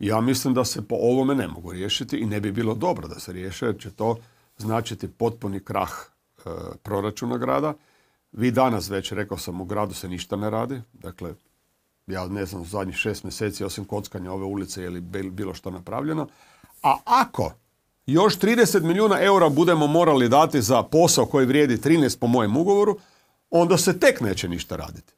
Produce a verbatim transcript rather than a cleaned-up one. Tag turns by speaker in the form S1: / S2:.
S1: Ja mislim da se po ovome ne mogu riješiti i ne bi bilo dobro da se riješe, jer će to značiti potpuni krah e, proračuna grada. Vi danas već, rekao sam, u gradu se ništa ne radi. Dakle, ja ne znam, u zadnjih šest mjeseci, osim kockanja ove ulice, je li bilo što napravljeno. A ako još trideset milijuna eura budemo morali dati za posao koji vrijedi trinaest po mojem ugovoru, onda se tek neće ništa raditi.